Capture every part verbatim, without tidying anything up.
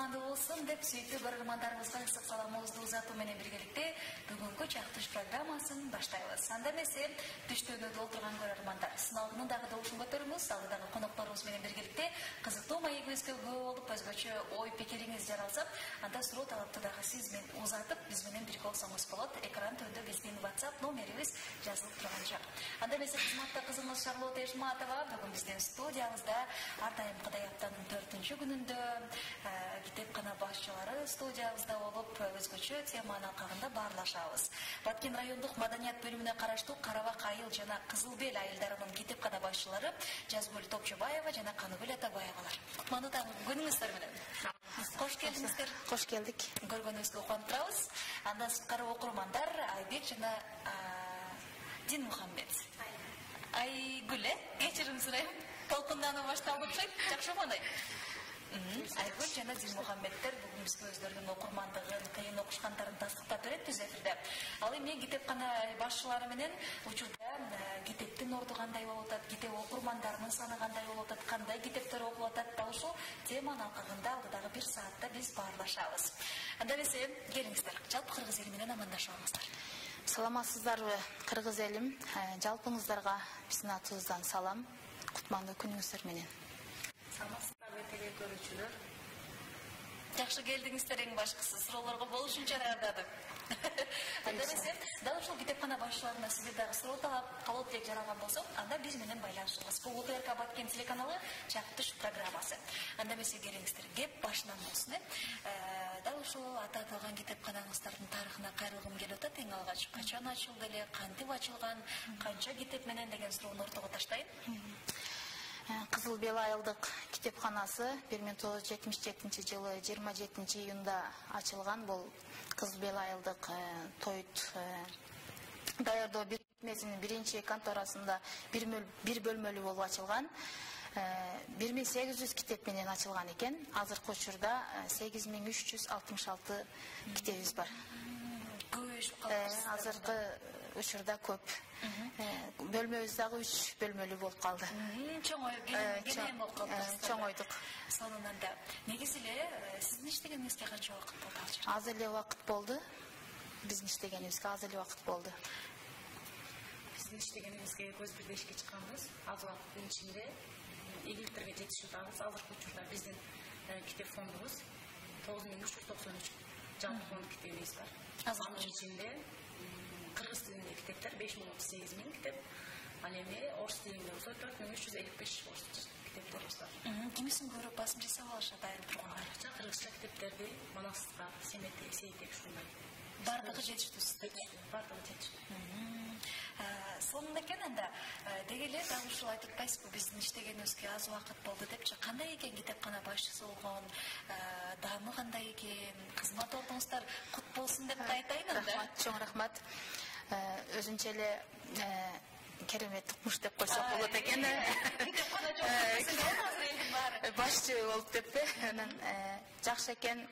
кутмандуу болсун деп сүйүктүү көрөрмандарыбызга ысык саламыбызды узатуу менен биргеликте бүгүнкү чактыш программасын баштайбыз. Анда эмесе түштөнүүдө отурган көрөрмандар сыналгынын дагы добушун көтөрүңүз, алдыдагы конокторубуз менен биргеликте кызыктуу маегибизге күбө болуп өзгөчө ой пикириңиз жаралса, анда суроо талапты дагы сиз менен узатып, биз менен бирге болсоңуз болот. Экран төндө биздин WhatsApp номерибиз жазылып турган жок. Анда эмесе кызматта кызыңыз Шарлот Эшматова бүгүн биздин студиябызда ар дайымкыдай аптанын төртүнчү күнүндө китепкана башчылары студиябызда болуп, өзгөчө теманын алкагында баарлашабыз. Баткен райондук маданият бөлүмүнө караштуу Карабак айыл жана Кызыл бел айылдарынын китепкана башчылары Жазгүл Топчубаева жана Каныбел Атабаевалар. Кутмандуу күнүңүздөр менен. Кош келдиңиздер. Кош келдик. Көргөнүбүзгө кубанып турабыз. Андан сырткары окурмандар Айбек жана Дин Мухаммед. Айгүл, э? Кечирим сурайм. Толкундануу башталып окшойт. Жакшымы андай? Айгүл жана Дин Мухаммедтер бүгүн бизге өздөрүнүн окурмандыгын, кыйын окушкандарын тастыктап берет түз эфирде. Ал эми китепкана башчылары менен учурда китептин орду кандай болуп атат, китеп окурмандарынын саны кандай болуп атат, кандай китептер окулуп атат, дал ушул теманын алкагында алдыдагы бир саатта биз баарлашабыз. Анда эмесе келиңиздер, жалпы кыргыз эли менен амандашабыздар. Саламатсыздарбы, кыргыз элим? Жалпыңыздарга биздин атыбыздан салам. Кутмандуу күнүңүздөр менен. Саламатсыздарбы, теле көрүүчүлөр. Жакшы келдиңиздер, эң башкысы суроолорго болушунча даярдадым. Анда эмесе, дал ушул китепкана башчыларына сиздер дагы суроо талап, калоо тилек жаралган болсо, анда биз менен байланышыңыз. Бул О Т Р К Баткен телеканалы чактыш программасы. Анда эмесе келиңиздер, кеп башынан болсун, э? Дал ушул аты аталган китепканаңыздардын тарыхына кайрылгым келип атат. Эң алгач качан ачылды эле, кантип ачылган, канча китеп менен деген суроону ортого таштайын. Кызыл бел айылдык китепканасы бир миң тогуз жүз жетимиш жетинчи жылы жыйырма жетинчи июнда ачылган. Бул Кызыл бел айылдык тоют даярдоо бирикмесинин биринчи конторасында бир бөлмөлүү болуп ачылган. бир миң сегиз жүз китеп менен ачылган экен. Азыркы учурда сегиз миң үч жүз алтымыш алты китебиз бар. Азыркы учурда көп. Бөлмөбүз дагы үч бөлмөлүү болуп калды. Чоңойдук болуп калды. Чоңойдук. Сонунанда негизи эле сиздин иштегениңизге канча убакыт болду ал жерде? Аз эле убакыт болду. Биздин иштегенибизге аз эле убакыт болду. Биздин иштегенибизге көз бирдешке чыкканбыз. Аз убакыттын ичинде ийгиликтерге жетишип атабыз. Азыркы учурда биздин китеп фондубуз тогуз миң үч жүз токсон үч жалпы фонд китебибиз бар. Анын ичинде кыргыз тилинде китептер беш миң отуз сегиз миң китеп, ал эми орус тилинде болсо төрт миң үч жүз элүү беш китептерибиз бар. Кимисин көрүп басым жасап алышат айрым тургундар. Кыргызча китептерди Манасовка, Семетке, Сейтек ушундай. Бардыгы жетиштүү. Бардыгы жетиштүү. Сонун экен. Анда деги эле дал ушул айтып атпайсызбы, биздин иштегенибизге аз убакыт болду депчи. Кандай экен китепкана башчысы болгон, даамы кандай экен, кызмат ордуңуздар кут болсун деп айтайын анда. Рахмат, чоң рахмат. Өзүнчө эле керемет укмуш деп койсок болот экен. Башчы болуп деппи? Жакшы экен.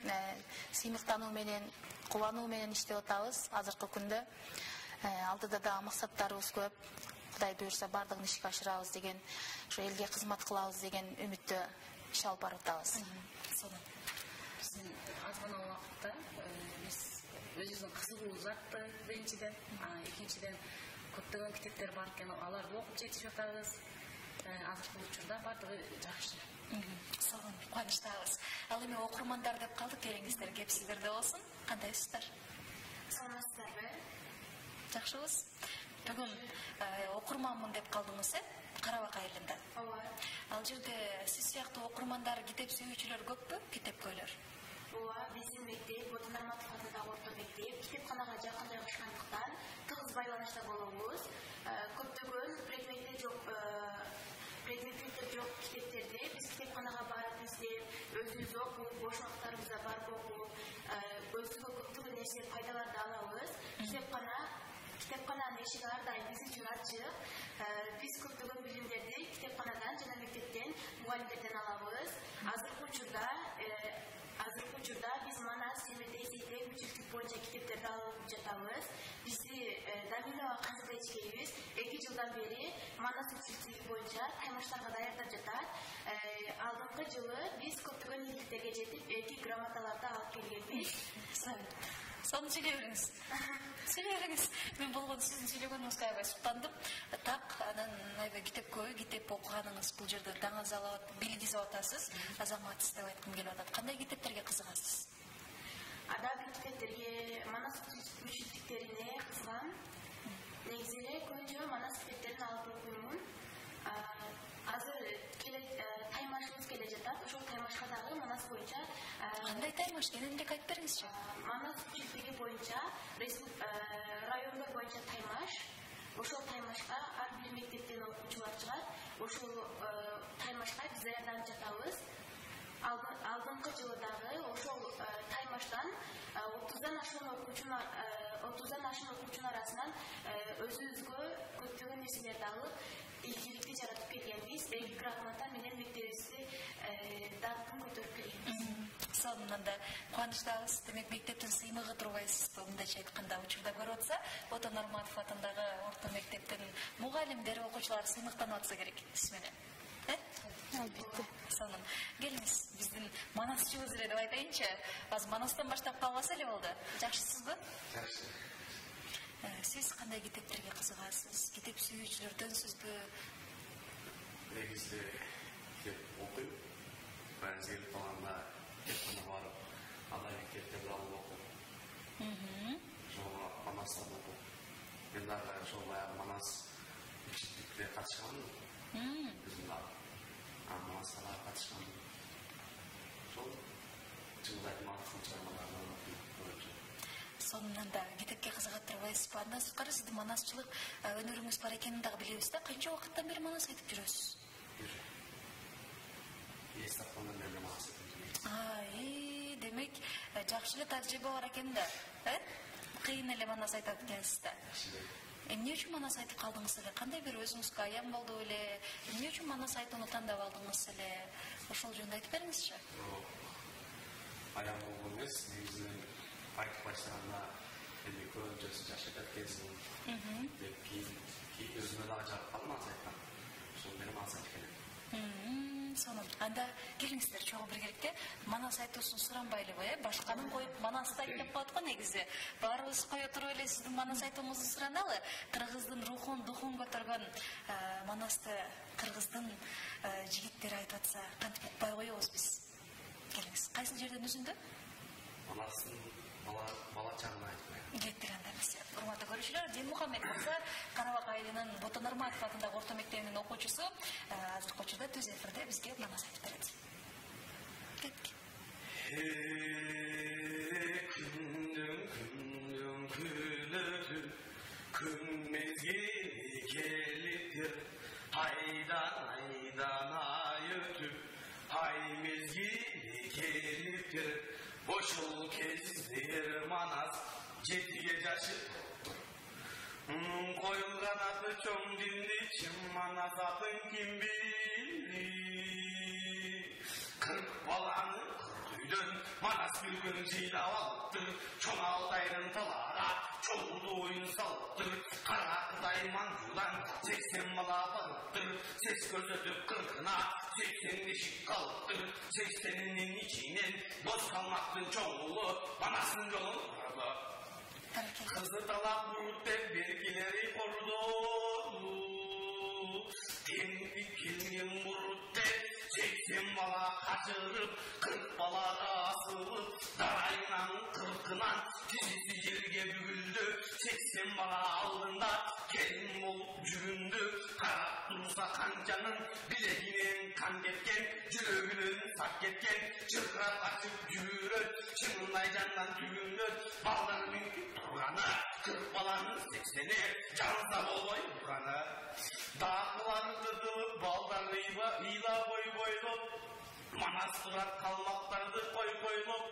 Сыймыктануу менен, кубануу менен иштеп атабыз азыркы күндө. Алдыда да максаттарыбыз көп. Кудай буйрса бардыгын ишке ашырабыз деген, ошо элге кызмат кылабыз деген үмүттө иш алып барып атабыз. Биздин аз гана убакытта биз өзүбүздүн кызыгуубуз артты биринчиден, экинчиден көптөгөн китептер бар экен, аларды окуп жетишип атабыз. Азыркы учурда бардыгы жакшы. Сонун, кубанычтабыз. Ал эми окурмандар деп калдык, келиңиздер, кеп сиздерде болсун. Кандайсыздар? Саламатсыздарбы? Жакшыбыз. Бүгүн окурманмын деп калдыңыз, э? Карабак айылында. Ооба. Ал жерде сиз сыяктуу окурмандар, китеп сүйүүчүлөр көппү, китепкөйлөр? Ооба, биздин мектеп Ботун Нарматов атындагы орто мектеп китепканага жакын жайгашкандыктан тыгыз байланышта болобуз. Көптөгөн предметтер жок, предметтер жок китептерди биз китепканага барып издеп, өзүбүз окуп, бош убакыттарыбызда барып окуп, өзүбүзгө көптөгөн нерсе пайдаларды алабыз. Китепкана Китепкананын эшиги ар дайым биз үчүн ачык. Биз көптөгөн билимдерди китепканадан жана мектептен, мугалимдерден алабыз. Азыркы учурда азыркы учурда биз Манас, Семетек, Сейтек үчүлүк боюнча китептерди алып жатабыз. Бизди Дамилова Казыда эчкейибиз эки жылдан бери Манас үчүлүк боюнча таймаштарга даярдап жатат. алдыңкы жылы биз көптөгөн ийгиликтерге жетип, эки грамоталарды алып келгенбиз. Соны сөйлей бериңиз. Сөйлей бериңиз. Мен болгон сиздин сүйлөгөнүңүзгө аябай суктандым. Так, анан аябай китепкө, китеп окуганыңыз бул жерде даңаз алып, билгизип атасыз. Азаматсыз деп айткым келип атат. Кандай китептерге кызыгасыз? Ада бир китептерге Манас үчүнчүлүктерине кызыгам. Негизи эле көбүнчө Манас китептерин алып окуймун. Азыр келе таймашыбыз келе жатат. Ошол таймашка дагы Манас боюнча кандай таймаш экенин эле айтып бериңизчи. Манас үчүнчүлүгү боюнча райондор боюнча таймаш. Ошол таймашка ар бир мектептен окуучулар чыгат. Ошол таймашка биз даярданып жатабыз. Алдыңкы жылы дагы ошол таймаштан отуздан ашкан окуучунун отуздан ашкан окуучунун арасынан өзүбүзгө көптөгөн нерселерди алып, ийгиликти жаратып келгенбиз. Эки грамота менен мектебибизди даңкын көтөрүп келгенбиз. Сонунан да кубанычтабыз. Демек мектептин сыймыгы турбайсыз. Мындайча айтканда учурда көрүп атса, Ото Нурматов атындагы орто мектептин мугалимдери, окуучулары сыймыктанып атса керек сиз менен. Э? Албетте. Сонун. Келиңиз, биздин Манасчыбыз эле деп айтайынчы. Азыр Манастан баштап калбаса эле болду. Жакшысызбы? Жакшы. Сиз кандай китептерге кызыгасыз? Китеп сүйүүчүлөрдөнсүзбү? Негизде китеп окуйм. Бензин планда китепканага барып, андай китептерди алып окуйм. Мм. Ошого Манастан окуп. Мен дагы ошол баягы Манас үчүнчүлүккө катышканмын. Мм. Биздин дагы Манаска дагы катышканмын. Ошол чындап Манастын чыгармаларын окуйм. Сонунан да китепке кызыгат турбайсызбы? Андан сырткары сиздин манасчылык өнөрүңүз бар экенин дагы билебиз да. Канча убакыттан бери манас айтып жүрөсүз? Эстафандан бери манас айтып жүрөм. Ай, демек жакшы эле тажрыйба бар экен да, э? Кыйын эле манас айтат экенсиз да. Эмне үчүн манас айтып калдыңыз эле? Кандай бир өзүңүзгө аян болду эле? Эмне үчүн манас айтууну тандап алдыңыз эле? Ошол жөнүндө айтып бериңизчи. Аян болгон эмес, негизинен айтып баштаганда эми көбүнчөсү жашап кеткенсиң. Деп кийин өзүмө дагы жагып калдым манас айткан. Ошол менен манас айтып келем. Сонун. Анда келиңиздер чогуу биргеликте манас айтуусун суранбайлыбы, э? Башканын коюп манас айт деп коет го негизи. Баарыбыз кое туруп эле сиздин манас айтууңузду сураналы. Кыргыздын рухун, духун көтөргөн манасты кыргыздын жигиттери айтып атса, кантип укпай коебуз биз? Келиңиз. Кайсы жерден үзүндү? Манастын бала бала чагын айтып коем. Кеттик анда эмес. Урматтуу көрүүчүлөр, Дилмухаммед Мырза Карабак айылынын Ото Нурматов атындагы орто мектебинин окуучусу азыркы учурда түз эфирде бизге манас айтып берет. Кеттик. Күндүн күндүн күнөтү күн мезгили келиптир. Айдан айдан ай өтүп, ай мезгили келиптир. Ошол кездер манас жетиге жашы топтур. Коюлган аты чоң динди чым манас атын ким били. Кырк баланы кырк үйдөн манас бир күн жыйлап алыптыр. Чоң Алтайдын талара чоңду оюн салыптыр. Кара Кытай маңжудан сексен бала балыптыр. Сес көрсөтүп кыркына сексен бешик калыптыр. Сексенинин ичинен боз калмактын чоңулу манастын жолун курду. Кызы талап буруп деп белгилери кордоду. Темпи келген буруп деп сексен бала качырып, кырк балага асылып, дарайынан кыркынан тизиси жерге бүгүлдү. Сексен бала алдында келин болуп жүрүндү. Карап турса канчанын билегинен кан кеткен, жүрөгүнөн сак кеткен, чыркырап качып жүрөт, чыңындай жандан түгүнөт. Балдарынын турганы кырк баланын сексени жанса болбой турганы. Дакылары кытылып, балдар ыйла бой бойлоп, манас турат калмактарды кой койлоп,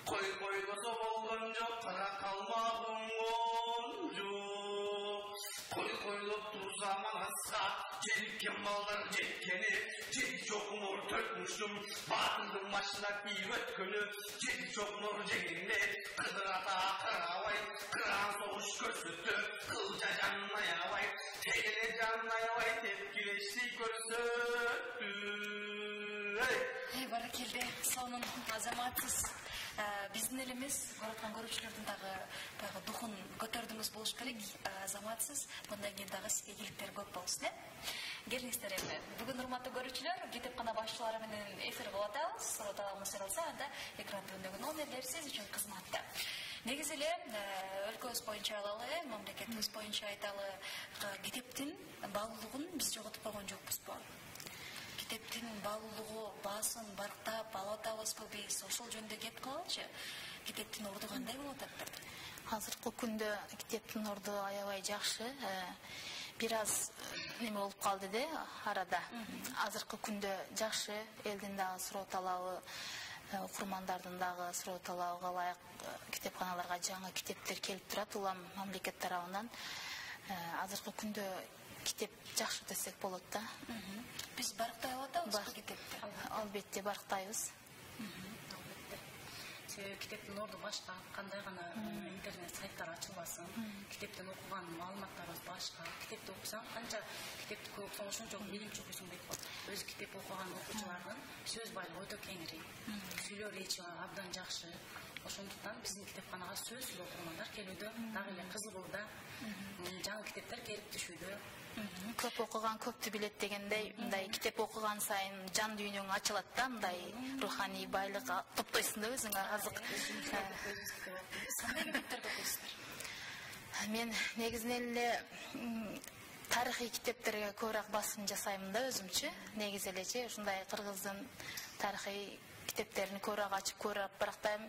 кой койлосо болгон жок, кара калмак оңгон жок. Кой койлоп турса манаска желиккен балдар жеткени, жети чокмор төртмүштүм батылдын башына кийип өткөнү. Жети чокмор жегенде кыдыр ата карабай, кыран согуш көрсөттү. Кылча жанын аябай, тегеле жанын аябай тепкилешти көрсөттү. Эй, баракелде. Сонун азаматсыз. Биздин элimiz көрөткөн көрүүчүлөрдүн дагы баягы духун көтөрдүңүз болуш керек. Азаматсыз мындан кийин дагы сизге ийгиликтер көп болсун, э? Келиңиздер эми. Бүгүн урматтуу көрүүчүлөр, китепкана башчылары менен эфир кылып атабыз. Суроталабыз алса, анда экран түбүндөгү номерлер сиз үчүн кызматта. Негизи эле өлкөбүз боюнча алалы, мамлекетибиз боюнча айталы, китептин баалуулугун биз жоготуп койгон жокпузбу? Китептин баалуулугу, баасын барктап алып атабызбы биз? Ошол жөнүндө кеп калалычы. Китептин орду кандай болуп атат? Азыркы күндө китептин орду аябай жакшы. Бир аз неме болуп калды да арада. Азыркы күндө жакшы, элдин дагы суроо талабы, окурмандардын дагы суроо талабыга ылайык китепканаларга жаңы китептер келип турат улам мамлекет тарабынан. Азыркы күндө китеп жакшы десек болот да. Биз барктай алабызбы китепти? Албетте барктайбыз. Себеби китептин орду башка, кандай гана интернет сайттар ачылбасын, китептен окуган маалыматтарыбыз башка. Китепти окусаң, канча китепти көп окусаң, ошончо билим чукуйсуң дейт го. Өзү китеп окуган окуучулардын сөз байлыгы өтө кеңири, сүйлөө речи абдан жакшы. Ошондуктан биздин китепканага сөзсүз окурмандар келүүдө, дагы эле кызык болууда, жаңы китептер келип түшүүдө. Көп окуган көптү билет дегендей, мындай китеп окуган сайын жан дүйнөң ачылат да, мындай руханий байлык топтойсуң да өзүңө азык. Кандай китептерди окуйсуздар? Мен негизинен эле тарыхый китептерге көбүрөөк басым жасайм да өзүмчү. Негизи элечи ушундай кыргыздын тарыхый китептерин көбүрөөк ачып көрүп барактайм.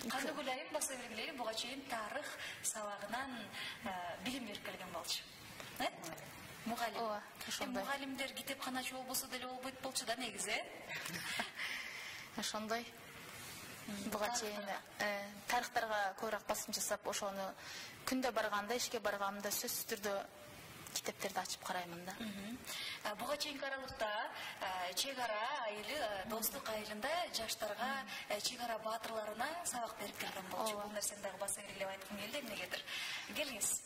Кандай ойлойм, баса бергилейм, буга чейин тарых сабагынан билим берип келген болчу. Мугалим. Ооба, ошондой. Мугалимдер китепканачы болбосо деле болбойт болчу да негизи. Ошондой. Буга чейин тарыхтарга көбүрөөк басым жасап, ошону күндө барганда, ишке барганда сөзсүз түрдө китептерди ачып караймын да. Буга чейинки аралыкта чек ара айылы, достук айылында жаштарга чек ара баатырларына сабак берип келген болчу. Бул нерсени дагы баса бергилеп айткым келди эмнегедир. Келиңиз.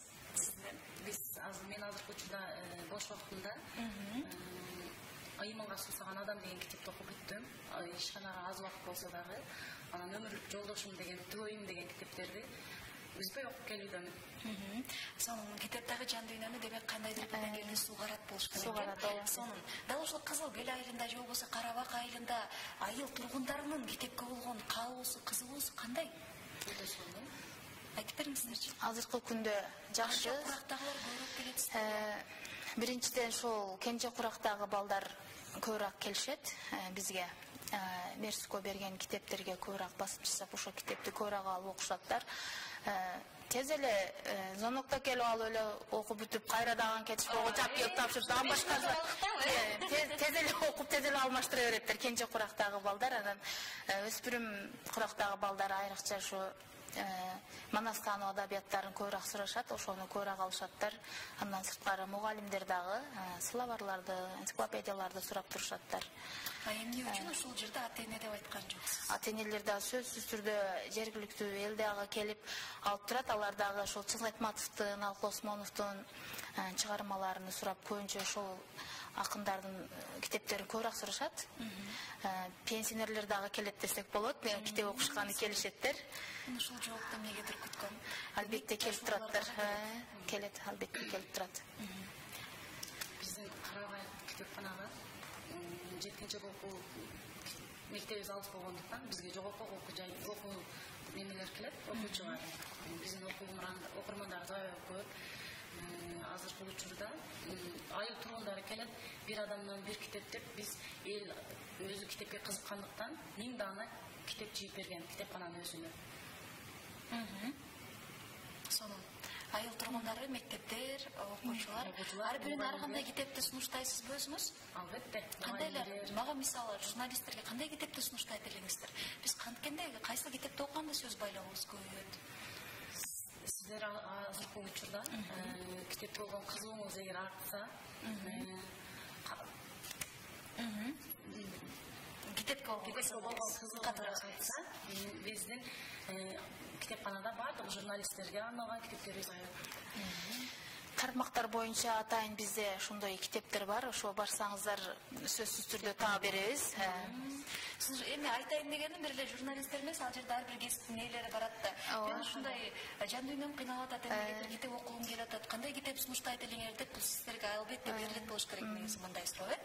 Биз азыр мен азыркы учурда бош убактымда Айыманга суусаган адам деген китепти окуп бүттүм. Ишканага аз убакыт болсо дагы, анан өмүрлүк жолдошум деген, түгөйүм деген китептерди үзбөй окуп келүүдөмүн. Сонун китептеги жан дүйнөнү демек кандайдыр бир деңгээлде суугарат болуш керек. Суугарат. Сонун. Дал ушул Кызыл Бел айылында же болбосо Карабак айылында айыл тургундарынын китепке болгон каалоосу, кызыгуусу кандай? Өтө сонун. Айтып бериңиздерчи. Азыркы күндө жакшы. Курактагылар көбүрөөк келет. Биринчиден ошол кенже курактагы балдар көбүрөөк келишет бизге. Мерско берген китептерге көбүрөөк басым жасап, ошол китепти көбүрөөк алып окушаттар. Тез эле зонокто келип алып эле окуп бүтүп, кайра дагы кетип жап келип тапшырып, дагы башка тез эле окуп, тез эле алмаштыра береттер кенже курактагы балдар. Анан өспүрүм курактагы балдар айрыкча ушу Манастануу адабияттарын көбүрөөк сурашат, ошону көбүрөөк алышаттар. Андан сырткары мугалимдер дагы словарларды, энциклопедияларды сурап турушаттар. А эмне үчүн ушул жерде ата-эне деп айткан жоксуз? Ата-энелер дагы сөзсүз түрдө жергиликтүү эл дагы келип алып турат. Алар дагы ошол Чыңгайтматовдун, Алпы Осмоновдун чыгармаларын сурап, көбүнчө ошол акындардын китептерин көбүрөөк сурашат. Пенсионерлер дагы келет десек болот, китеп окушканы келишеттер. Ушул жоопту эмнегедир күткөн? Албетте келип тураттар. Келет, албетте келип турат. Биздин Карабай китепканага жеткенче окуу мектебибиз алыс болгондуктан бизге жогорку окуу жай окуу немелер келет, окуучулар. Биздин окурмандарыбыз аябай көп. Азыркы учурда айыл тургундары келет, бир адамдан бир китеп деп биз эл өзү китепке кызыккандыктан миң даана китеп жыйып берген китепкананын өзүнө. Сонун. Айыл тургундары, мектептер, окуучулар ар бирин ар кандай китепти сунуштайсызбы өзүңүз? Албетте. Кандайлар? Мага мисалы журналисттерге кандай китепти сунуштайт элеңиздер? Биз канткенде кайсы китепти окуганда сөз байлообуз көбөйөт? Сиздер азыркы учурда китепке болгон кызыгууңуз эгер артса, китепке болгон кызыгуу артса, биздин китепканада баардык журналисттерге арналган китептерибиз бар. тармактар боюнча атайын бизде ошондой китептер бар. Ошо барсаңыздар сөзсүз түрдө таа беребиз. Сиз эми айтайын дегеним бир эле журналисттер эмес, ал жерде ар бир кесиптин ээлери барат да. Мен ушундай жан дүйнөм кыйналып атат, эми китеп окугум келип атат. Кандай китеп сунуштайт элеңер деп бул сиздерге албетте берилет болуш керек негизи мындай суроо, э?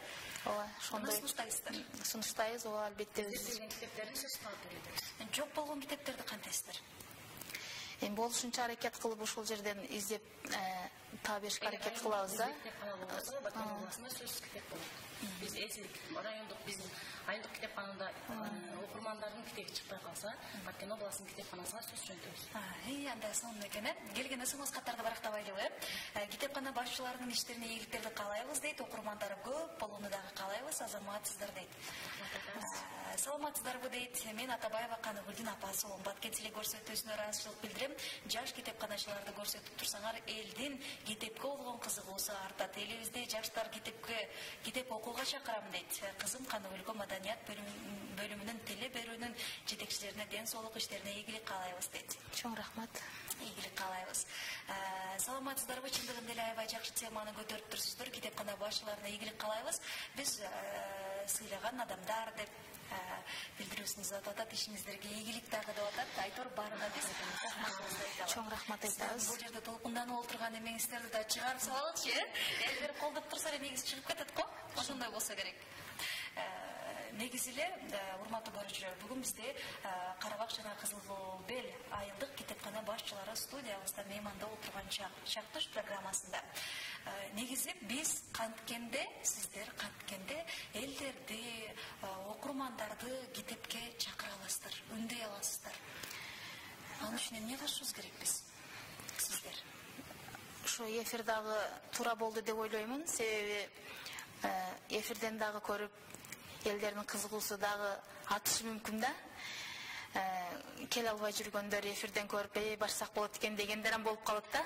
Ооба, ошондой сунуштайсыздар. Сунуштайбыз, ооба, албетте Биз китептерди сөз кылып беребиз. Жок болгон китептерди кантайсыздар? Эми болушунча аракет кылып ушул жерден издеп таа беришке аракет кылабыз да. Баткен областында сөзсүз китеп болот. Биз эсилик райондук биздин айылдык китепканада окурмандардын китеби чыкпай калса, Баткен областынын китепканасына сөз жөнөтөбүз. Эй, андай сонун экен, э? Келген ысыңыз каттарды барактабайлыбы, э? Китепкана башчыларынын иштерине ийгиликтерди каалайбыз дейт, окурмандары көп болууну дагы каалайбыз, азаматсыздар дейт. Саламатсыздарбы дейт. Мен Атабаева Каныгүлдүн апасы болом. Баткен теле көрсөтүүсүнө ыраазычылык билдирем. Жаш китепканачыларды көрсөтүп турсаңар, элдин китепке болгон кызыгуусу артат. Элибизде жаштар китепке, китеп окууга чакырам дейт. Кызым Каныгүлгө маданият бөлүмүнүн теле берүүнүн жетекчилерине ден соолук иштерине ийгилик каалайбыз дейт. Чоң рахмат. Ийгилик каалайбыз. Саламатсыздарбы, чындыгында эле аябай жакшы теманы көтөрүп турсуздар. Китепкана башчыларына ийгилик каалайбыз. Биз сыйлаган адамдар деп билдирүүсүңүз атат, ишиңиздерге ийгилик дагы деп атат. Айтор баарына биз рахматыбызды айтабыз. Чоң рахмат айтабыз. Бул жерде толкунданып отурган эмеңиздерди да чыгарып салалычы, э? Эл берип колдоп турса эле негизи чыгып кетет го. Ошондой болсо керек. Негизи эле, урматтуу көрүүчүлөр, бүгүн бизде Карабак жана Кызыл Бел айылдык китепкана башчылары студиябызда мейманда отурган чактыш программасында. Негизи биз канткенде, сиздер канткенде элдерди, окурмандарды китепке чакыра аласыздар, үндөй аласыздар. Ал үчүн эмне кылышыбыз керек биз? Сиздер. Ошо эфир дагы туура болду деп ойлоймун. Себеби эфирден дагы көрүп элдердин кызыгуусу дагы артышы мүмкүн да. Келе албай жүргөндөр эфирден көрүп, "Эй, барсак болот экен" дегендер ham болуп калат да.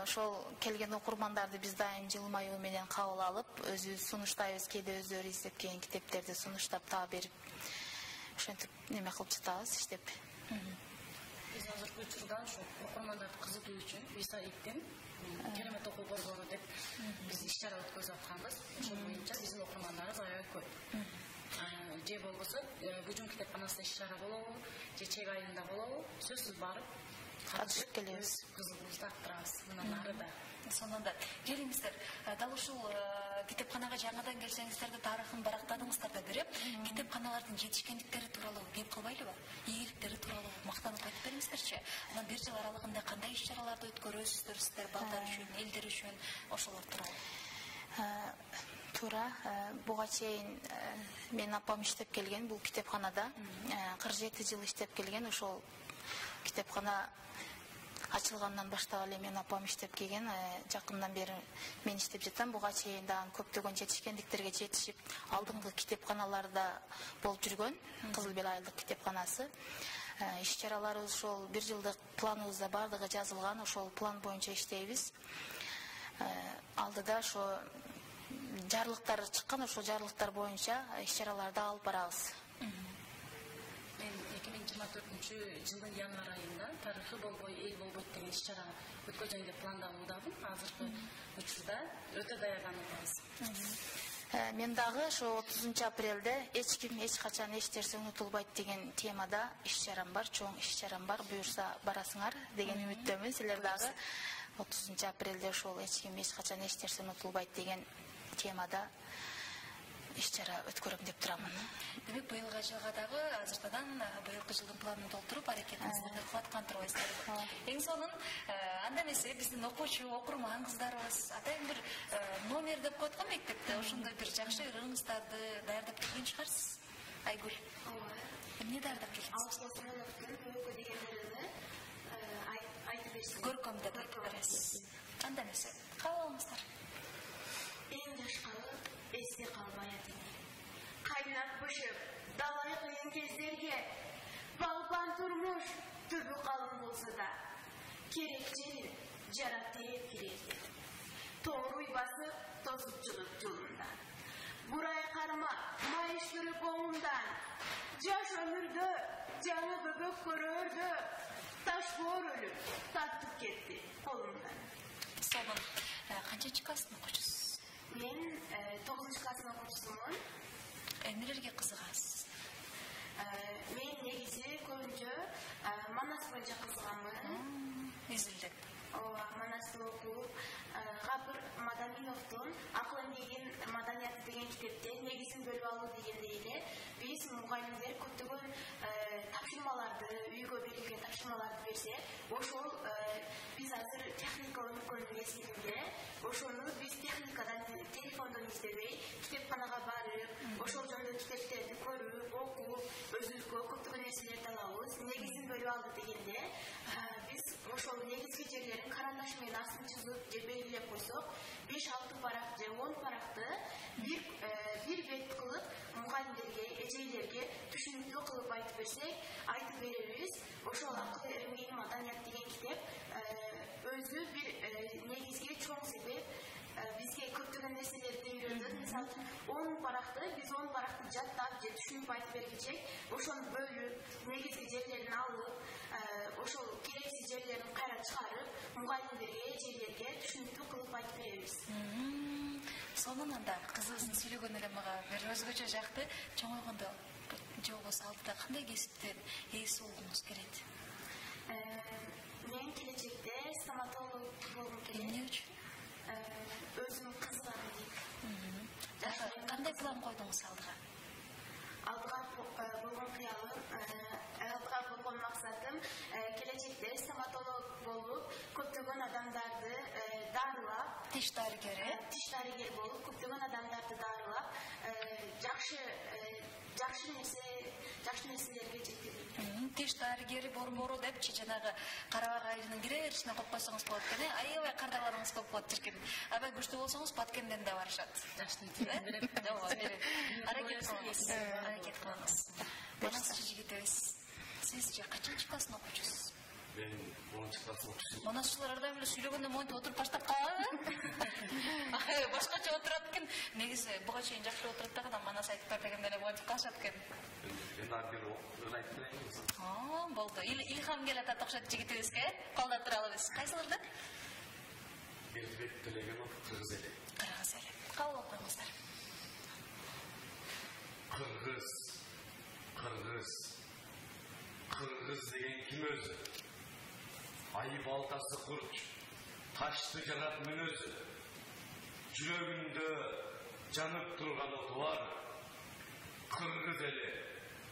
Ошол келген окурмандарды биз дайым жылмаюу менен кабыл алып, өзүбүз сунуштайбыз, кээде өздөрү издеп келген китептерди сунуштап таа берип, ошентип неме кылып жатабыз, иштеп. Биз азыркы учурда ошо окурмандарды кызытуу үчүн Висаиттин керемет окуу борбору деп биз иш-чара өткөзүп атканбыз. Ошол боюнча биздин окурмандарыбыз аябай көп. Же болбосо Бүжүн китепканасында иш-чара болобу, же чек айында болобу, сөзсүз барып катышып келебиз. Кызыгуубузду арттырабыз. Мындан ары да. Сонун да. Келиңиздер. Дал ушул китепканага жаңадан келсеңиздер да тарыхын барактадыңыздар да берип, китепканалардын жетишкендиктери тууралуу кеп калбайлыбы? Ийгиликтери тууралуу мактанып айтып бериңиздерчи. Анан бир жыл аралыгында кандай иш-чараларды өткөрөсүздөр сиздер балдар үчүн, элдер үчүн, ошолор тууралуу. Туура, буга чейин менин апам иштеп келген бул китепканада. кырк жети жыл иштеп келген. Ошол китепкана ачылгандан баштап эле менин апам иштеп келген. Жакындан бери мен иштеп жатам. Буга чейин дагы көптөгөн жетишкендиктерге жетишип, алдыңкы китепканаларда болуп жүргөн. Кызыл Бел айылдык китепканасы. Иш-чараларыбыз ошол бир жылдык планыбызда бардыгы жазылган. Ошол план боюнча иштейбиз. Алдыда ошо жарлыктар чыккан, ошол жарлыктар боюнча иш-чараларды алып барабыз. Мен эки миң жыйырма төртүнчү жылдын январь айында тарыхы болбой, эл болбойт деген иш-чара өткөзөм деп пландалуудамын. Азыркы учурда өтө даярданып атабыз. Мен дагы ошо отузунчу апрелде эч ким эч качан эч нерсе унутулбайт деген темада иш-чарам бар, чоң иш-чарам бар. Буюрса барасыңар деген үмүттөмүн. Силер дагы отузунчу апрелде ошол эч ким эч качан эч нерсе унутулбайт деген темада иш-чара өткөрөм деп турамын. Демек, быйылгы жылга дагы азыртадан быйылкы жылдын планын толтуруп, аракетиңиздерди кылып аткан турбайсыздарбы? Эң сонун, анда эмесе биздин окуучу, окурман кыздарыбыз атайын бир номер деп коет го мектепте, ошондой бир жакшы ырыңыздарды даярдап келген чыгарсыз. Айгүл. Эмне даярдап келгенсиз? Көркөм дегендерди айтып берсиң. Көркөм деп айтып бересиз. Анда эмесе, кабыл алыңыздар. Эң жашкалы эсте калбайт эми. Кайнап бышып, далай кыйын кездерге балпан турмуш түбү калың болсо да, керек жери жарап тээп кирерди. Тооруй басып, тосупчулук жолунда. Бурай карма, майыш көрүп оңундан, жаш өмүрдө жаңы бөбөк көрөрдө, таш боор өлүп, тартып кетти колундан. Сонун канчанчы класстын окуучусуз? Мен тогузунчу класстын окуучусумун. Эмнелерге кызыгасыз? Мен негизи көбүнчө Манас боюнча кызыганмын. Изилдеп. Ооба, Манасты окуп, Гапыр Мадаминовдун Акыл эмгегин маданияты деген китепте негизин бөлүп алуу дегендей эле биз мугалимдер көптөгөн тапшырмаларды, үйгө берилген тапшырмаларды берсе, ошол биз азыр техника өнүккөн мезгилинде ошону биз техникадан, телефондон издебей, китепканага барып, ошол жөнүндө китептерди көрүп, окуп, өзүбүзгө көптөгөн нерселерди алабыз. Негизин бөлүп алды дегенде, биз ошол негизги жерлерин карандаш менен астын чызып же белгилеп койсок, беш алты парак же он паракты бир бир бет кылып мугалимдерге, эжейлерге түшүнүктүү кылып айтып берсек, айтып беребиз. Ошол Акыл эмгегин маданият деген китеп өзү бир негизги чоң себеп бизге көптөгөн нерселерди үйрөтөт. Мисалы үчүн он паракты биз он паракты жаттап же түшүнүп айтып бергичек, ошону бөлүп, негизги жерлерин алып, ошол керексиз жерлерин кайра чыгарып, мугалимдерге, эжелерге түшүнүктүү кылып айтып беребиз. Сонун анда кызыбыздын сүйлөгөнү эле мага бир өзгөчө жакты. Чоңойгондо же болбосо алдыда кандай кесиптен ээси болгуңуз келет? Мен келечекте стоматолог болгум келет. Эмне үчүн? Өзүм кызыганам дейт. Кандай план койдуңуз алдыга? Алдыга болгон кыялым, алдыга болгон максатым келечекте стоматолог болуп, көптөгөн адамдарды дарылап, тиш дарыгери, тиш дарыгери болуп, көптөгөн адамдарды дарылап, жакшы жакшы нерсе, жакшы нерселерге жеткирүү. Тиш дарыгери борбору депчи жанагы Карабак айылынын кире беришине коюп койсоңуз болот экен. Аябай кардаларыңыз көп болот чиркин. Аябай күчтүү болсоңуз Баткенден да барышат. Жаштын берет. Ооба, берет. Аракет кылыңыз. Аракет кылыңыз. Манас жигитебиз. Сиз качанчы класстын окуучусуз? Мен онунчу класстын окуучусумун. Манасчылар ар дайым эле сүйлөгөндө монтип отуруп баштап калабы? Башкача отурат экен. Негизи буга чейин жакшы отуруп дагы Манас айтып бер дегенде эле монтип калышат экен. Мен ар бир өн айтып берейинби? Аа, болду. Илхам келатат окшойт жигитибизге. Колдоп туралыбыз. Кайсыларды? Бердибек Төлөгөнов, Кыргыз эли. Кыргыз эли. Кабыл койуңуздар. Кыргыз. Кыргыз. Кыргыз деген ким өзү? Айы балтасы курч, ташты жарат мүнөзү. Жүрөгүндө жанып турган оты бар. Кыргыз эли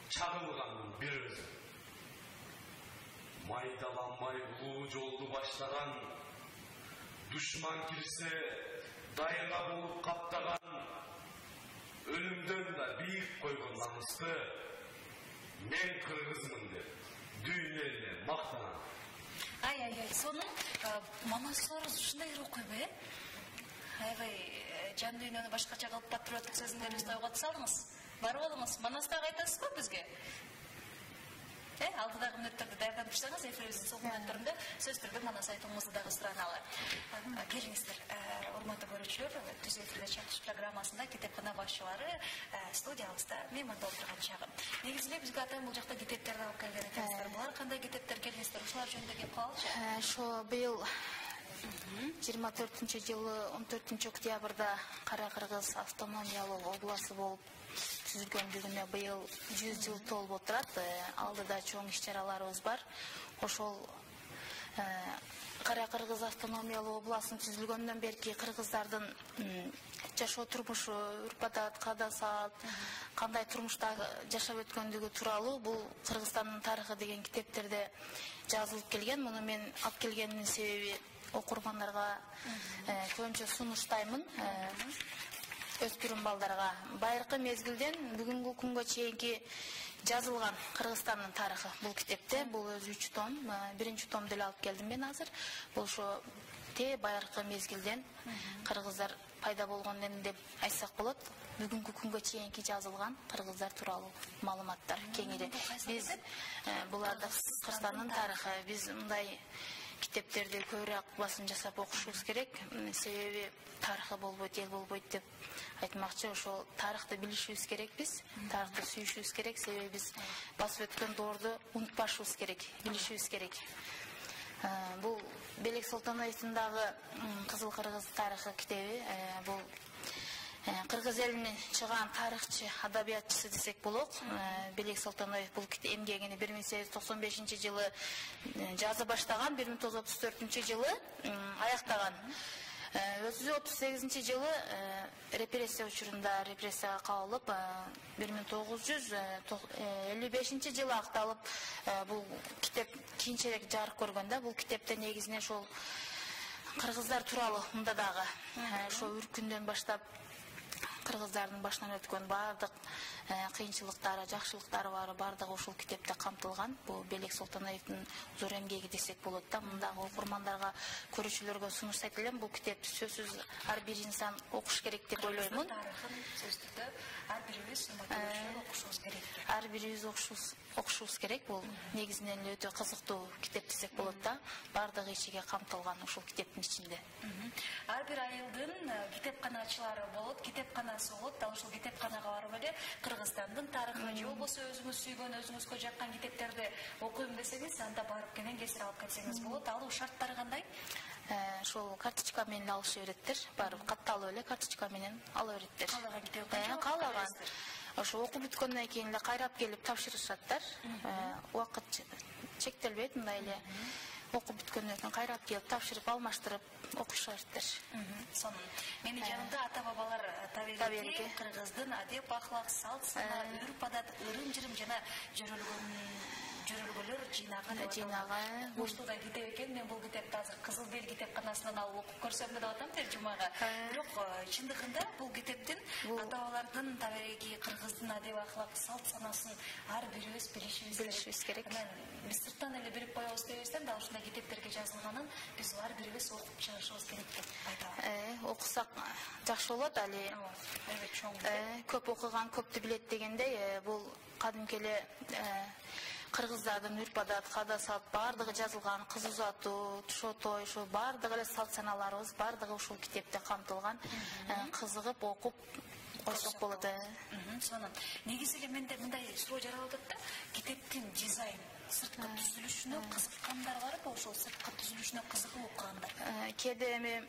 чагылганын бир өзү. Майдаламай улуу жолду баштаган, душман кирсе дайга болуп каптаган, өлүмдөн да бийик койгон намысты мен кыргызмын деп дүйнө элине мактанам. Ай, ай, ай, сонун Манастарыбыз ушундай ыруу койбу, э? Аябай жан дүйнөнү башкача кылып патриоттук сезимдерибизди ойгото салыңыз. Барып алыңыз. Манастагы айтасызбы бизге? Э, алдыдагы мүнөттөрдү даярдап турсаңыз, эфирибиздин сол мүнөттөрүндө сөз түрдө Манас айтууңузду дагы сураналы. Келиңиздер, урматтуу көрүүчүлөр, Түз эфирде чакырыш программасында китепкана башчылары студиябызда мейманда отурган чагы. Негизи эле бизге атайын бул жакта китептерди алып келген экенсиздер. Булар кандай китептер келиңиздер? Ушулар жөнүндө кеп калалычы. Ошо быйыл жыйырма төртүнчү жылы он төртүнчү октябрда Кара Кыргыз автономиялык областы болуп түзүлгөндүгүнө быйыл жүз жыл толуп отурат. Алдыда чоң иш-чараларыбыз бар. Ошол Кара Кыргыз автономиялык областынын түзүлгөндөн берки кыргыздардын жашоо турмушу, үрп-адат, каада-салт, кандай турмушта жашап өткөндүгү тууралуу бул Кыргызстандын тарыхы деген китептерде жазылып келген. Муну мен алып келгениmin себеби окурмандарга көбүнчө сунуштаймын. Өспүрүм балдарга байыркы мезгилден бүгүнкү күнгө чейинки жазылган Кыргызстандын тарыхы бул китепте. Бул өзү үч том. Биринчи томду эле алып келдим мен азыр. Бул ошо те байыркы мезгилден кыргыздар пайда болгондон деп айтсак болот. Бүгүнкү күнгө чейинки жазылган кыргыздар тууралуу маалыматтар кеңири. Биз буларды Кыргызстандын тарыхы, биз мындай китептерди көбүрөөк басым жасап окушубуз керек. Себеби тарыхы болбойт, эл болбойт деп айтмакчы. Ошол тарыхты билишибиз керек биз. Тарыхты сүйүшүбүз керек. Себеби биз басып өткөн доорду унутпашыбыз керек, билишибиз керек. Бул Белек Солтоноевдун дагы Кызыл Кыргыз тарыхы китеби. Бул Кыргыз элинин чыган тарыхчы, адабиятчысы десек болот. Белек Солтоноев бул эмгегини бир миң сегиз жүз токсон бешинчи жылы жаза баштаган, бир миң тогуз жүз отуз төртүнчү жылы аяктаган. Өзү отуз сегизинчи жылы репрессия учурунда репрессияга кабылып, бир миң тогуз жүз элүү бешинчи жылы акталып, бул китеп кийинчерээк жарык көргөн да. Бул китепте негизинен ошол кыргыздар тууралуу мында дагы ошо үркүндөн баштап кыргыздардын башынан өткөн баардык кыйынчылыктары, жакшылыктары баары баардыгы ушул китепте камтылган. Бул Белек Солтоноевдин зор эмгеги десек болот да. Мындагы окурмандарга, көрүүчүлөргө сунуштайт элем. Бул китепти сөзсүз ар бир инсан окуш керек деп ойлоймун. Тарыхын сөздүктө ар бирибиз окушубуз керек. Ар бирибиз окушубуз керек. Бул негизинен өтө кызыктуу китеп десек болот да. Баардыгы ичиге камтылган ушул китептин ичинде. Ар бир айылдын китепканачылары болот, китепканасы болот. Ал ушул китепканага барып эле Кыргызстандын тарыхы же болбосо өзүңүз сүйгөн, өзүңүзгө жаккан китептерди окуйм десеңиз, анда барып кенен кесир алып кетсеңиз болот. Алуу шарттары кандай? Ошол карточка менен алыша береттер. Барып катталып эле карточка менен ала береттер. Каалаган китеп каалаган. Ошо окуп бүткөндөн кийин эле кайрап келип тапшырышаттар. Убакыт чектелбейт, мындай эле окуп бүткөндөн кийин кайрап келип тапшырып, алмаштырып окушаттыр. Сонун. Менин жанымда ата-бабалар табиги кыргыздын адеп, ахлак, салт, сана, үрп-адат, ырым-жырым жана жөрөлгөн жөрөлгөлөр жыйнаган деп жыйнаган. Ушундай китеп экен. Мен бул китепти азыр Кызыл Бел китепканасынан алып окуп көрсөм деп атам тержумага. Бирок чындыгында бул китептин ата-бабалардын табиги кыргыздын адеп, ахлак, салт, санасын ар бирибиз билишибиз керек. Биз сырттан эле билип коебуз дебестен да ушундай китептерге жазылганын биз ар бирибиз окуп чыгышыбыз керек деп айтам. Окусак жакшы болот. Али көп окуган көптү билет дегендей, бул кадимки эле кыргыздардын үрп-адат, каада-салт баардыгы жазылган. Кыз узатуу, тушо той, ошо баардыгы эле салт саналарыбыз баардыгы ушул китепте камтылган. Кызыгып окуп койсок болот. Сонун. Негизи эле менде мындай суроо жаралып атат да, китептин дизайн, сырткы түзүлүшүнө кызыккандар барбы? Ошол сырткы түзүлүшүнө кызыгып окугандар. Кээде эми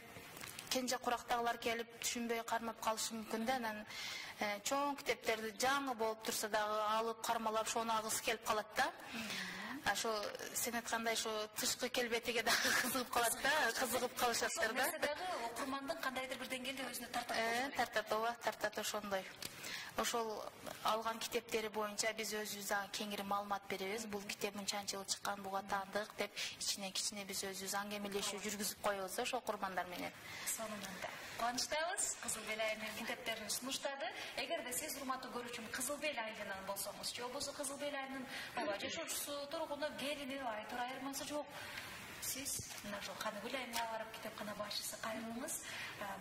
кенже курактагылар келип түшүнбөй кармап калышы мүмкүн да. Анан чоң китептерди жаңы болуп турса дагы алып кармалап ошону агысы келип калат да. Ошо сен айткандай ошо тышкы келбетиге дагы кызыгып калат да, кызыгып калышаттыр да. Ошол дагы окурмандын кандайдыр бир деңгээлде өзүнө тартат. Тартат, ооба, тартат ошондой. Ошол алган китептери боюнча биз өзүбүз дагы кеңири маалымат беребиз. Бул китеп мынчанчы жылы чыккан, буга таандык деп ичинен кичине биз өзүбүз аңгемелешүү жүргүзүп коебуз ошол окурмандар менен. Сонунда кубанычтабыз. Кызыл Бел айылынын китептерин сунуштады. Эгерде сиз урматтуу көрүүчүм Кызыл Бел айылынан болсоңуз, же болбосо Кызыл Бел айылынын жашоочусу, тургуну, келини, айтор айырмасы жок, сиз мына ошол Каныгүл айылына барып китепкана башчысы кайрылыңыз.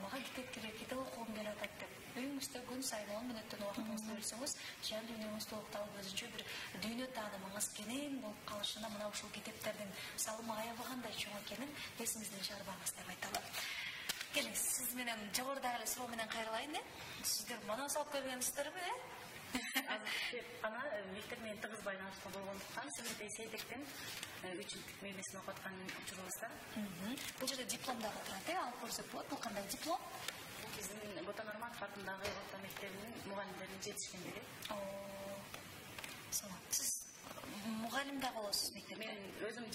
Мага китеп керек, китеп окугум келип атат деп үйүңүздө күн сайын он мүнөттөн убактыңызды бөлсөңүз, жан дүйнөңүздү укталып өзүнчө бир дүйнө таанымыңыз кенен болуп калышына мына ушул китептердин салымы аябы кандай чоң экенин эсиңизден чыгарбаңыз деп айталам. Келиңиз, сиз менен жогорудагы эле суроо менен кайрылайын. Сиздер манас алып келгенсиздерби, э? Азыр ана мектеп менен тыгыз байланышта болгондуктан Сибирдеги Сейдектин үчүнчү мектебин окуп аткан учурубузда. Бул жерде диплом дагы турат, э? Алып көрсөк болот. Бул кандай диплом? Биздин Ботон Арматов атындагы орто мектебинин мугалимдеринин жетишкендиги. Сиз мугалим да болосуз мектепте? Мен өзүм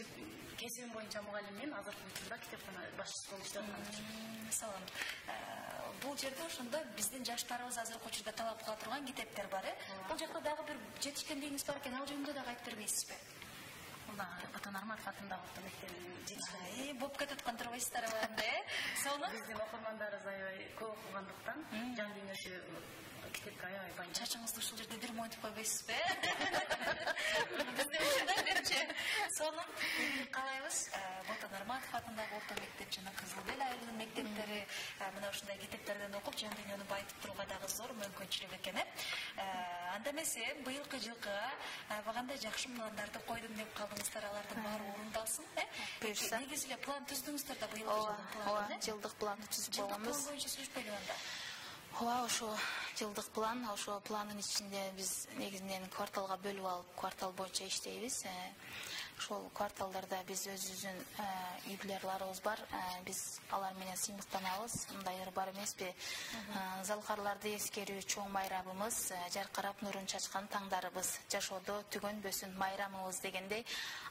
кесибим боюнча мугалиммин, азыркы учурда китепкана башчысы болуп иштеп атам. Салам. Бул жерде ошондо биздин жаштарыбыз азыркы учурда талап кыла турган китептер бар, э? Бул жакта дагы бир жетишкендигиңиз бар экен, ал жөнүндө дагы айтып бербейсизби? Ботон Арматов атындагы орто мектебинин жетишкендиги. Болуп кетип аткан турбайсыздарбы анда, э? Сонун. Биздин окурмандарыбыз аябай көп окугандыктан жан дүйнөсү китепке аябай бай. Чачыңызды ушул жерде бир монтип койбойсузбу, э? Биздин ушундай депчи. Сонун. Каалайбыз Ботон Арматов атындагы орто мектеп жана Кызыл Бел айылынын мектептери мына ушундай китептерден окуп жан дүйнөнү байытып турууга дагы зор мүмкүнчүлүк экен, э? Анда эмесе быйылкы жылкы багандай жакшы пландарды койдум деп калдыңыздар, алардын баары орундалсын, э? Буюрса. Негизи эле план түздүңүздөр да быйылкы жылдын планын, э? Жылдык планды түзүп койгонбуз. Жылдык план боюнча сүйлөшпөйлү анда. Ооба, ошо жылдык план, ошо пландын ичинде биз негизинен кварталга бөлүп алып, квартал боюнча иштейбиз. ошол кварталдарда биз өзүбүздүн үй бүлөлөрүбүз бар. Биз алар менен сыймыктанабыз. Мындай ыр бар эмеспи? Залкарларды эскерүү чоң майрамыбыз, жаркырап нурун чачкан таңдарыбыз, жашоодо түгөнбөсүн майрамыбыз дегендей,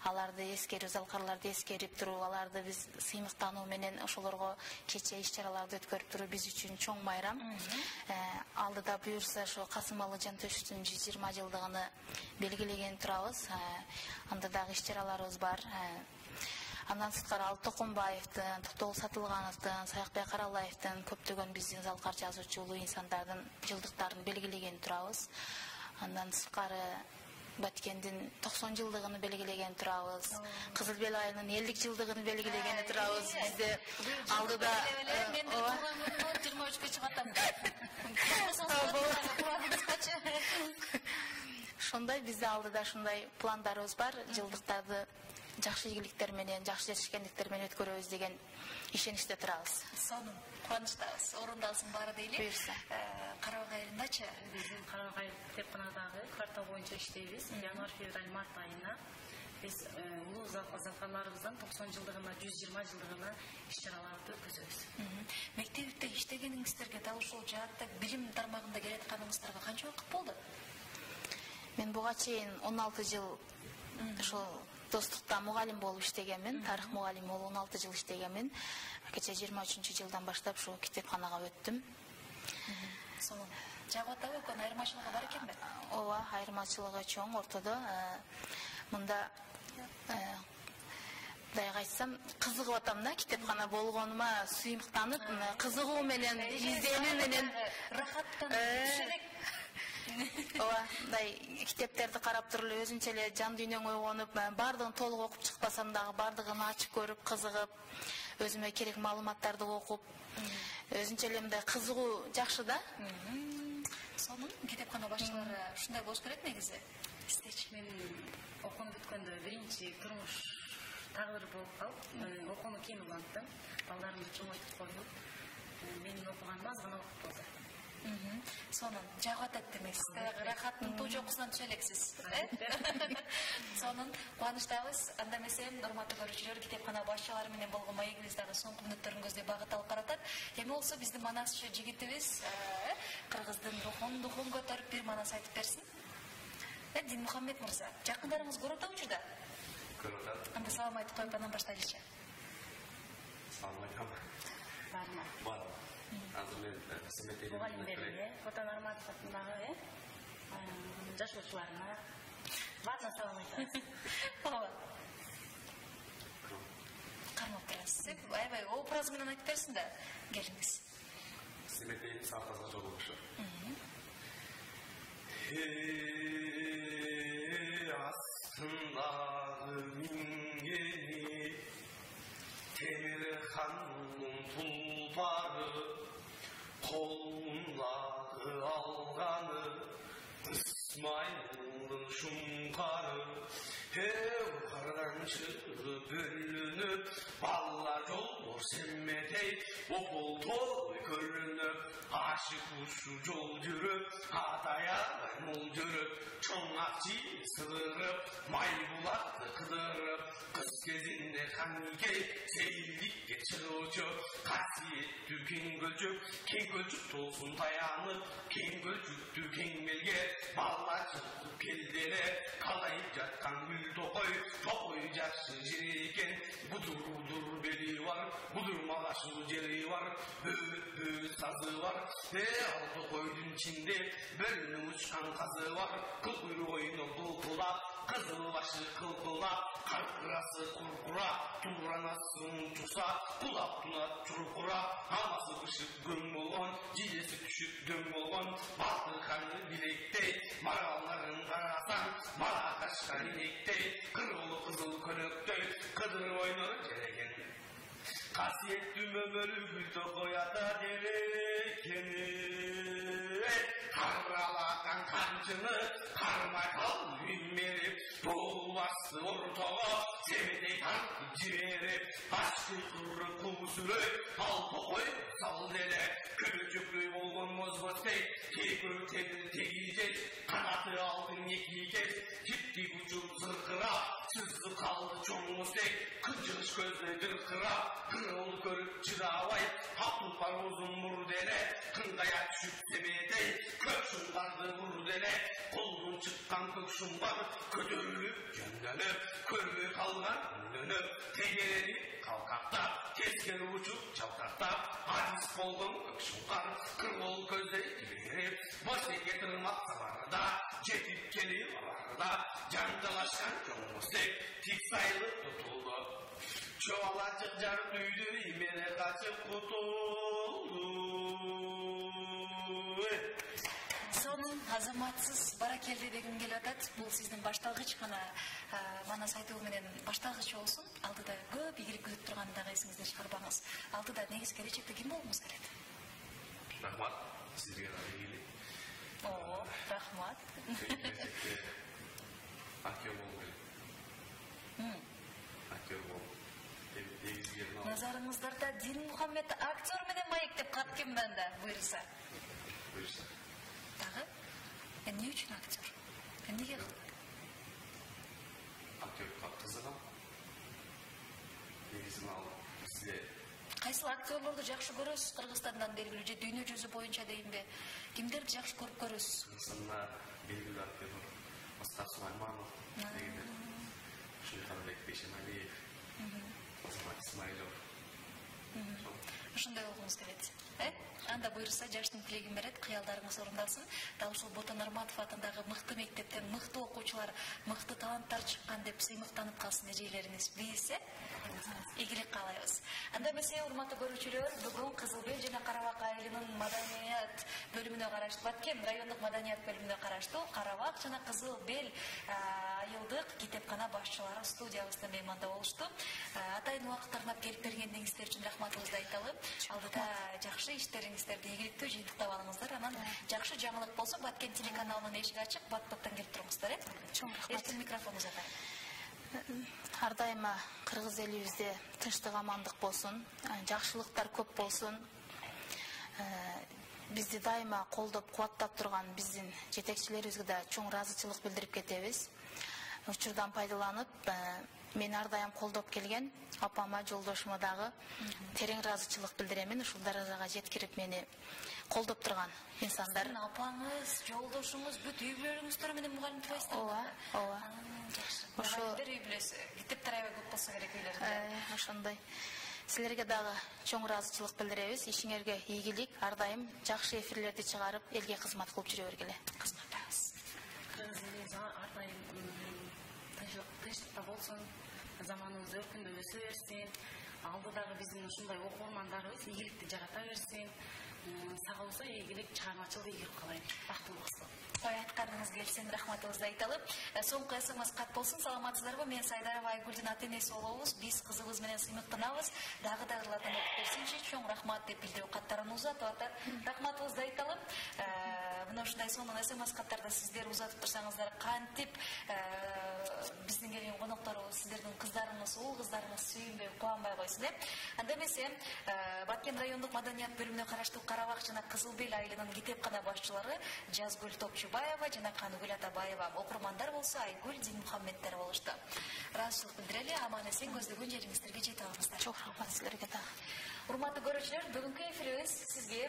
аларды эскерүү, залкарларды эскерип туруп, аларды биз сыймыктануу менен ошолорго кече иш-чараларды өткөрүп туруу биз үчүн чоң майрам. Алдыда буюрса ошо Касым Алы Жантөшевдин жүз жыйырма жылдыгын белгилеген турабыз. Анда дагы иш-чараларыбыз бар. Андан сырткары Ал Токонбаевдин, Токтогул Сатылгановдун, Саякбай Каралаевдин көптөгөн биздин залкар жазуучу улуу инсандардын жылдыктарын белгилеген турабыз. Андан сырткары Баткендин токсон жылдыгын белгилеген турабыз. Кызыл Бел айынын элүү жылдыгын белгилеген турабыз. Бизде алдыда жыйырма үчкө чыгып атам. Ошондой бизде алдыда ушундай пландарыбыз бар. Жылдыктарды жакшы ийгиликтер менен, жакшы жетишкендиктер менен өткөрөбүз деген ишеничте турабыз. Сонун кубанычтабыз. Орундалсын баары дейли. Буюрса. Карабак айылындачы Биздин Карабак айыл китепканадагы квартал боюнча иштейбиз. Январь, февраль, март айына биз улуу залкарларыбыздын токсон жылдыгына, жүз жыйырма жылдыгына иш-чараларды өткөзөбүз. Мектепте иштегениңиздерге дал ушул жаатта билим тармагында келатканыңыздарга канча убакыт болду? Мен буга чейин он алты жыл ошо Достукта мугалим болуп иштегенмин, тарых мугалими болуп он алты жыл иштегенмин. Кече жыйырма үчүнчү жылдан баштап ушул китепканага өттүм. Сонун. Жагып атабы экөн айырмачылыгы бар экенби? Ооба, айырмачылыгы чоң ортодо. Мында мындайга айтсам, кызыгып атам да, китепкана болгонума сыймыктанып, кызыгуу менен, изденүү менен рахаттан түшүрөк. Ооба, мындай китептерди карап туруп эле өзүнчө эле жан дүйнөң ойгонуп, бардыгын толук окуп чыкпасам дагы бардыгын ачып көрүп, кызыгып, өзүмө керек маалыматтарды окуп, өзүнчө эле мындай кызыгуу жакшы да. Сонун китепкана башчылары ушундай болуш керек негизи. Издечи. Мен окууну бүткөндө биринчи турмуш тагыр болуп калып, окууну кийин уланттым. Балдарымды чоңойтуп коюп, менин окуганым аз гана уакыт болду. Сонун жагып атат демексиз. Баягы рахаттын тоо жокусунан түшө элексиз. Сонун кубанычтабыз. Анда эмесе, урматтуу көрүүчүлөр, китепкана башчылары менен болгон маегибиз дагы соңку мүнөттөрүн көздөй багыт алып баратат. Эми болсо биздин манасчы жигитибиз кыргыздын рухун духун көтөрүп бир манас айтып берсин. Дин Мухаммед мырза, жакындарыңыз көрөт учурда? Көрөт. Анда салам айтып коюп анан баштайлычы. Салам айтам. Барма. Бар. Азыр мен семетели. Мугалимдерге, Отан Арматов атындагы жашоочуларына баарына салам айтабыз. Ооба. Кармап турасыз. Аябай образ менен айтып берсин да, келиңиз. Семетели саатага жолугушу. Астындагы мингени темир ханның тұлпары, қолындағы алғаны Исмайылдың шұңқары. Еу қардан шығып бөлініп, балла жол семетей, опол той көрініп, ашық ұшу жол жүріп, атаяғай мол жүріп, чоң ақчи сығырып, май бұлақты қыдырып, қыз кезінде қанекей сейілдікке шығушы, қасиетті кең көлчіп, кең көлчіп толсын таянып, кең көлчіпті кеңмелге балла шығып келдері, қалайып жатқан гүл тоқой, тоқой жақсы жер екен, бұдыр-бұдыр бели бар, бұдырмалашы жері бар, бөт-бөт сазы бар, е алты қойдың ішінде бөліні ұшқан қазы бар, күл-күл ойыны бұлқылап, қызыл башы қылқылап, қарқырасы құрқырап, туранасы ұнтықса, құлап тұнат тұрқырап, амасы ұшып гүн болған, жидесі күшіп дөң болған, баты қаны білектей, мараларын қарасан, мара қашқан инектей, қырғылы қызыл көнөктей, қыдыр ойныр жереген. Қасиетті өмірі гүлді қоята дерекені, қаралаған қаншыны қармай қал үймеріп, бұл басты ортаға семедей Аңар жиберип, ашкы куры куусүрөй, алпокой сал деле, көлөчөктөй болгон мозбостей, кейкөлү тегил тегийжей, канаты алдын экийгей, типтик учур зыркырап, сызды калды чоңмустей, кынжыгыш көздөй дыркырап, кырыл көрүп чыдабай, капылпар узун мур деле, кыңгая түшүп семетей, көк шуңгарды бур деле, колдун чыккан көк шумбар, көтөрүлүп жөндөнүп, көрбөй калган үнөнүп, тегерени калкактап, тескери учуп чалкактап, адис болгон көк шуңкар, кыргыл көздөй жиберип, босеке тырмак сабарда, жетип келип аларда, жаңжалашкан жоңмустек, тик сайлы тутулду. Чуалачык жарып үйдү, имене качып кутулду. Сонун азаматсыз баракелди дегим келип атат. Бул сиздин башталгыч гана манас айтуу менен башталгыч болсун. Алдыда көп ийгилик күтүп турганын дагы эсиңизден чыгарбаңыз. Алдыда негизи келечекте ким болгуңуз келет? Рахмат, сизге да ийгилик. О, рахмат. Келечекте актер болуп келет. Актер болуп. Назарыңыздарда Дин Мухаммед актер менен маек деп кат ким мында буйрса? Буйрса. Дагы? Эмне үчүн актер? Эмнеге кылды? Актерга кызыгам. Негизи ал бизде Кайсыл актерлорду жакшы көрөсүз Кыргызстандан белгилүү же дүйнө жүзү боюнча дейинби? Кимдерди жакшы көрүп көрөсүз? Кыргызстанда белгилүү актерлор Аскар Сулайманов, дегендер, Шулханбек Бейшемалиев, Азамат Исмаилов. Ушундай болгуңуз келет. Э? Анда буйрса жаштын тилегин берет, кыялдарыңыз орундалсын. Дал ушул Ботон Нурматов атындагы мыкты мектептен мыкты окуучулар, мыкты таланттар чыккан деп сыймыктанып калсын эжейлериңиз. Биз ийгилик каалайбыз. Анда эмесе, урматтуу көрүүчүлөр, бүгүн Кызыл Бел жана Карабак айылынын маданият бөлүмүнө караштуу, Баткен райондук маданият бөлүмүнө караштуу Карабак жана Кызыл Бел айылдык китепкана башчылары студиябызда мейманда болушту. Атайын убакыт арнап келип бергениңиздер үчүн рахматыбызды айталы. Алдыда жакшы иштериңиздерди ийгиликтүү жыйынтыктап алыңыздар. Анан жакшы жаңылык болсо Баткен телеканалынын эшиги ачык, бат-баттан келип туруңуздар, э? Чоң рахмат. Эртең микрофонуңузду атайын. Ар дайыма кыргыз элибизде тынчтык, амандык болсун, жакшылыктар көп болсун. Бизди дайыма колдоп, кубаттап турган биздин жетекчилерибизге да чоң ыраазычылык билдирип кетебиз. Учурдан пайдаланып, мени ар дайым колдоп келген апама, жолдошума дагы терең ыраазычылык билдиремин. Ушул даражага жеткирип мени колдоп турган инсандар. Апаңыз, жолдошуңуз бүт үй бүлөлөрүңүздөр менен мугалим турасыздар. Ооба, ооба. Ошо үй бүлөсү китептер аябай көп болсо керек үйлөрүндө. Ошондой. Силерге дагы чоң ыраазычылык билдиребиз. Ишиңерге ийгилик, ар дайым жакшы эфирлерди чыгарып, элге кызмат кылып жүрө бергиле. Кызматтабыз. Кыргыз ар дайым тынчтыкта болсун, заманыбыз өркүндө өсө берсин. Алдыдагы биздин ушундай окурмандарыбыз ийгиликти жарата берсин. Сага болсо ийгилик, чыгармачылык ийгилик кылайын. Бактылуу болсун. Ой, айтканыңыз келсин, рахматыбызды айталы. Соңку эсемес кат болсун, саламатсыздарбы? Мен Сайдарова Айгүлдүн ата-энеси болобуз. Биз кызыбыз менен сыймыктанабыз. Дагы дагырлардан окуп берсинчи, чоң рахмат деп билдирүү каттарын узатып атат. Рахматыбызды айталы. Мына ушундай сонун эсемес каттарда сиздер узатып турсаңыздар, кантип биздин келген конокторубуз, сиздердин кыздарыңыз, уул кыздарыңыз сүйүнбөй, кубанбай койсун, э? Анда эмесе, Баткен райондук маданият бөлүмүнө караштуу Карабак жана Кызыл Бел айылынын китепкана башчылары Жазгүл Топчубаева жана Каныгүл Атабаева, окурмандар болсо Айгүл Дин Мухаммедтер болушту. Ыраазычылык билдирели, аман эсен көздөгөн жериңиздерге жете алыңыздар. Чоң рахмат силерге да. Урматтуу көрүүчүлөр, бүгүнкү эфирибиз сизге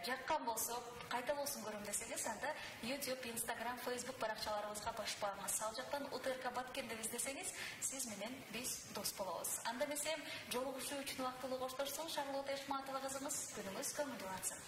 жаккан болсо, кайта болсун көрөм десеңиз, анда YouTube, Instagram, Facebook баракчаларыбызга басып барыңыз. Ал жактан УТРК Баткен деп издесеңиз, сиз менен биз дос болобуз. Анда эмесе, жолугушуу үчүн убактылуу коштошсун. Шарлот Эшматова кызыңыз күнүңүз көңүлдүү атсын.